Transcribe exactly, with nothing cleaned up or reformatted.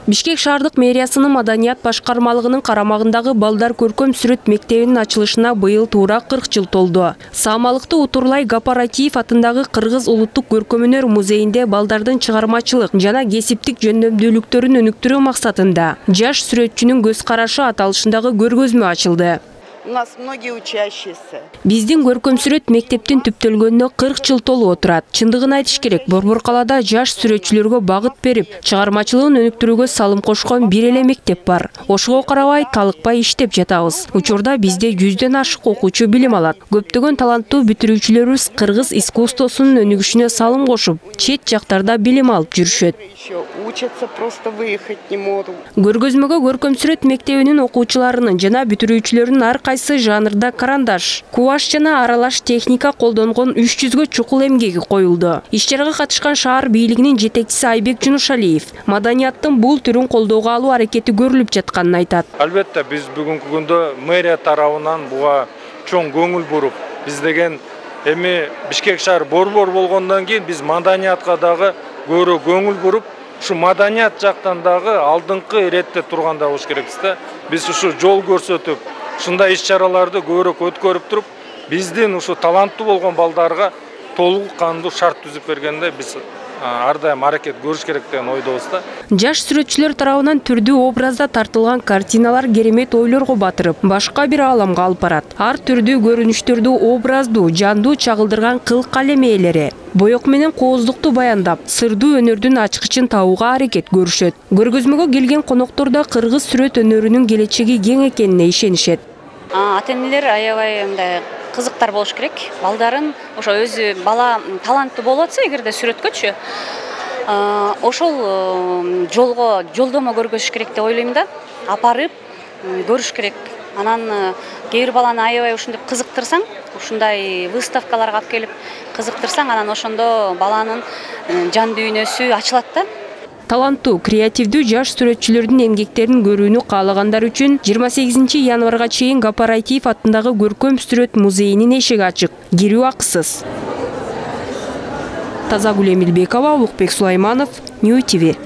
Бишкек шаардык мэриясынын маданият башкармалыгынын карамагындагы балдар көркөм сүрөт мектебинин ачылышына быйыл туура кырк жыл толду. Саамалыкты Утурлай Гапаратиев атындагы Кыргыз улуттук көркөм өнөр музейинде балдардын чыгармачылык жана кесиптик жөндөмдүүлүктөрүн өнүктүрүү максатында жаш сүрөтчүнүн көз карашы аталышындагы көргөзмө ачылды. У нас многие учащиеся. Биздин көркөм сүрөт мектептин түптөлгөнүнө кырк жыл толуп отурат. Чындыгын айтыш керек, Борбор калаада жаш сүрөтчүлөргө багыт берип, чыгармачылыгын өнүктүрүүгө салым кошкон бир эле мектеп бар. Ошого карабай, талыкпай иштеп жатабыз. Учурда бизде жүздөн ашык окуучу билим алат. Көптөгөн таланттуу бүтүрүүчүлөрүбүз кыргыз искусствосунун өнүгүшүнө салым кошуп, чет жактарда билим алып жүрүшөт. Учатся, просто выехать не могут. Көргөзмөгө көркөм сүрөт мектебинин окуучуларынын жана бүтүрүүчүлөрүнүн ар кайсы жанрда карандаш, кубаш жана аралаш техника колдонгон үч жүзгө чукул эмгеги коюлду. Иш-чарага катышкан шаар бийлигинин жетекчиси Айбек Жунушалиев маданияттын бул түрүн колдоого алуу аракети көрүлүп жатканын айтат. Албетте биз бүгүнкү күндө мэрия тарабынан буга чоң көңүл буруп, биз деген эми Бишкек шаар борбор болгондон кийин биз маданиятка дагы көрө көңүл буруп, ушу маданият жактан дагы алдыңкы иретте турганда болуш керекпиз да. Биз ушу жол көрсөтүп, ушундай иш-чараларды көбүрөөк өткөрүп туруп, биздин ушу таланттуу болгон балдарга толук кандуу шарт түзүп бергенде биз ар дайым аракет көрүш керек деген ойдобуз да. Жаш сүрөтчүлөр тарабынан түрдүү образда тартылган картиналар керемет ойлорго батырып, башка бир ааламга алып барат. Ар түрдүү көрүнүштөрдү образдуу, жандуу чагылдырган кыл калем ээлери боек менен кооздукту баяндап, сырдуу өнөрдүн ачкычын табууга аракет көрүшөт. Көргөзмөгө келген коноктор да кыргыз сүрөт өнөрүнүн келечеги кең экенине ишенишет. Ата-энелер аябай мындай кызыктар болуш керек. Балдарын ошо өзү бала таланттуу болуп атса, эгерде сүрөткөчү, ошол жолго жолдомо көргөзүш керек деп ойлойм да. Апарып көрүш керек. Анан кээ бир баланы аябай ушинтип кызыктырсаң, ушундай выставкаларга алып келип кызыктырсаң, анан ошондо баланын жан дүйнөсү ачылат да. Таланттуу, креативдүү жаш сүрөтчүлөрдүн эмгектерин көрүүнү каалагандар үчүн жыйырма сегизинчи январга чейин Гапаратиев атындагы көркөм сүрөт музейинин эшиги ачык. Кирүү акысыз. Тазагүл Эмилбекова, Улукбек Сулайманов, Нью ти ви.